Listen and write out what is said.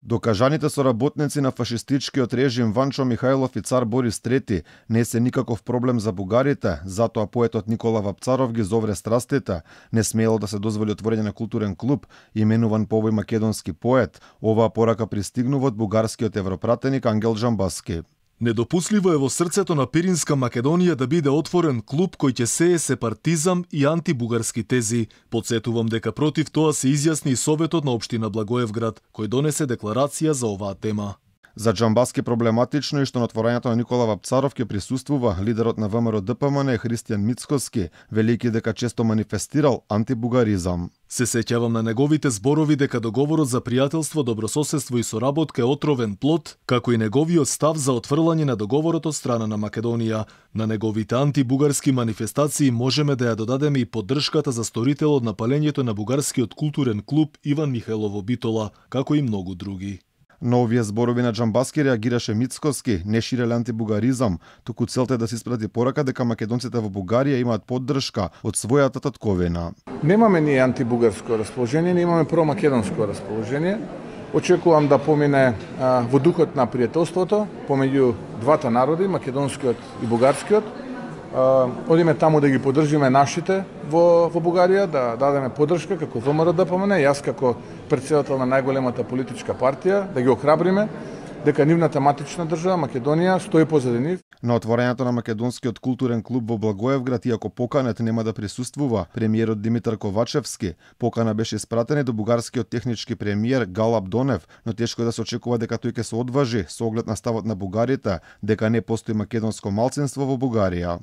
Докажаните соработници на фашистичкиот режим Ванчо Михајлов и цар Борис III не се никаков проблем за бугарите, затоа поетот Никола Вапцаров ги зовре страстите, не смело да се дозволи отворење на културен клуб, именуван по овој македонски поет. Оваа порака пристигнува од бугарскиот европратеник Ангел Джамбаски. Недопустливо е во срцето на Пиринска Македонија да биде отворен клуб кој ќе сее сепаратизам и антибугарски тези. Подсетувам дека против тоа се изјасни и Советот на општина Благоевград, кој донесе декларација за оваа тема. За Джамбаски проблематично е што на отворањето на Никола Вапцаров ќе присуствува лидерот на ВМРО ДПМН Христијан Мицкоски, велики дека често манифестирал антибугаризам. Се сеќавам на неговите зборови дека договорот за пријателство, добрососедство и соработка е отровен плод, како и неговиот став за отфрлање на договорот од страна на Македонија. На неговите антибугарски манифестации можеме да ја додадеме и поддршката за сторителот на палењето на бугарскиот културен клуб Иван Михајлово Битола, како и многу други. На овие зборови на Джамбаски реагираше Мицкоски, не ширеле антибугаризам, туку целта е да се испрати порака дека македонците во Бугарија имаат поддршка од својата татковина. Немаме ние антибугарско расположение, не имаме промакедонско расположение. Очекувам да помине во духот на пријателството помеѓу двата народи, македонскиот и бугарскиот. Одиме таму да ги поддржиме нашите во Бугарија, да дадеме поддршка како ВМРО ДПМН, јас како претседател на најголемата политичка партија, да ги охрабриме дека нивната матична држава Македонија стои позади нив. На отворањето на македонскиот културен клуб во Благоевград, иако поканет нема да присуствува премиерот Димитар Ковачевски, покана беше испратена до бугарскиот технички премиер Галаб Донев, но тешко е да се очекува дека тој ќе се одважи со оглед на ставот на бугарите дека не постои македонско малцинство во Бугарија.